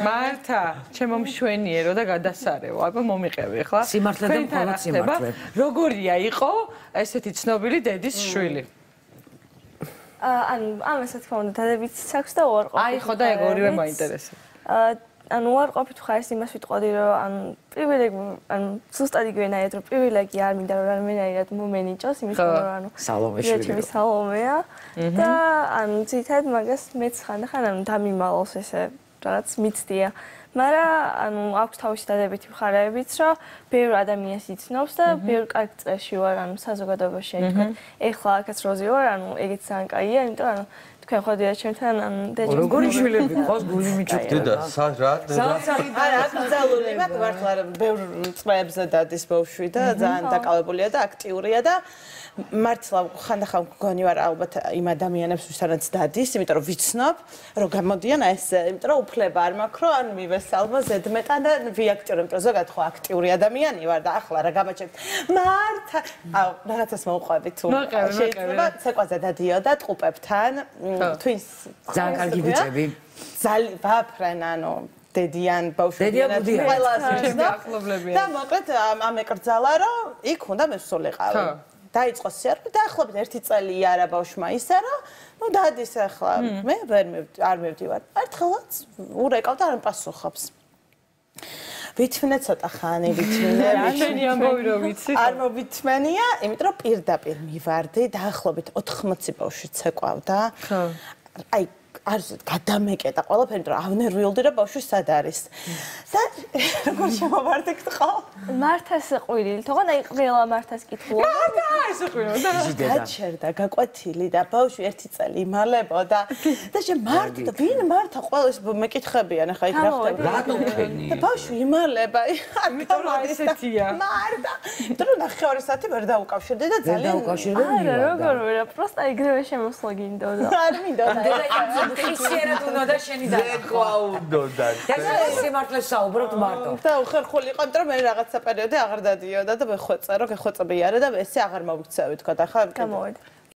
მართა, ჩემო მშვენიერო და გადასარევო. აბა მომიყევი ახლა. სიმართლე და მხოლოდ სიმართლე. როგორია იყო ესეთი ცნობილი დედის შვილი? ანუ ამას რა თქმა უნდა დადებით საქვს და უარყოფით. აი ხო და ეგ ორივე მაინტერესებს. ანუ უარყოფით ხარს იმას ვიტყოდი რომ ანუ პრივილეგი ანუ ზუსტად იგივენაირად რომ პრივილეგი არ მინდა რომ რამენაირად მომენიჭოს იმის გამო რომ ანუ სალომეშვილი სალომეა და ანუ ცითად მაგას მეც ხანდახან ანუ დამიმალოს ესე რაღაც მიცდია მაგრამ ანუ აქვს თავისი დადებითი მხარეებიც რომ ბევრ ადამიანს იცნობს და ბევრ კარგ წრეში ვარ ანუ საზოგადოებაში თქვა ეხლა აქაც როზი ვარ ანუ ეგეც ძალიან კაია იმიტომ ანუ თქვენ ходიათ ჩემთან ან დეჯო როგორი შვილები ყავს გული მიჭუქდა და რა არა აკრძალული მაგ მართლა ბევრ წრეებზე დადის ბავშვი და ძალიან დაკავებულია და აქტიურია და მართლა ხანდახან მგონი ვარ ალბათ იმ ადამიანებს ვისაც დადის იმიტომ რომ ვიცნობ რომ გამოდიან ეს იმიტომ რომ უფლება არ მაქვს რომ ან მივესალმო ზედმეტად და ვიაქტიურებ იმიტომ რომ ზოგადად ხო აქტიური ადამიანი ვარ და ახლა რა გამაჩერთ მართა აუ რაღაცას მოვყვებით თუ შეიძლება ცეკვაზე დადიოდა ტყუპებთან twins ძალიან კარგი ბიჭები ძალიან ვაფრენ ანუ დედიან ბავშვებიანად ყველას და მოკლედ ამ ეკრძალა რომ იქ უნდა მესულიყავი დაიწყო სიარული და ახლობით ერთი წელი არა ბავშვმა ისე რომ ნუ დადის ახლა მე არ მევდივარ ერთხელაც ურეკავ და არ პასუხობს ვითმნე ცოტა ხანი ვითმნე ჩვენი ამბავი რომ ვიცი არ მოვითმენია იმიტომ რომ პირდაპირ მივარდი დაახლოებით 80 ბავშვი ცეკვავდა აი არ გადამეკეტა ყველაფერი რომ ავნერვიულდი რომ ბავშვი სად არის და როგორ შემოვარდი გთხოვ მართას ყვირილი თქო და ყველა მართას კითხულობ და ეს ყვირო და გაჩერდა გაკვეთილი და ბავშვი ერთი წელი იმალებოდა და შე მართ და ვინ მართა ყველას მეკითხებიან ახლა იქ რა ხდება რატო თქვენი და ბავშვი იმალება იმიტომ რომ ესეთია მართა დრო ნახევარი საათი ვერ დაუკავშირდი და ძალიან არა როგორ ვერა პროსტა იგივე შემოსვლა გინდოდა არ მინდოდა ხისიერად უნდა და შენი ზეკვა უნდა და სიმართლეს საუბრობთ მარტო და უხერხული იყო იმიტომ რომ მე რაღაცა პერიოდი აღარ დადიოდა და მე ხვეწა რომ გეხვეწები არა და ესე აღარ მოგცევი თქვა და ახლა გამოვედი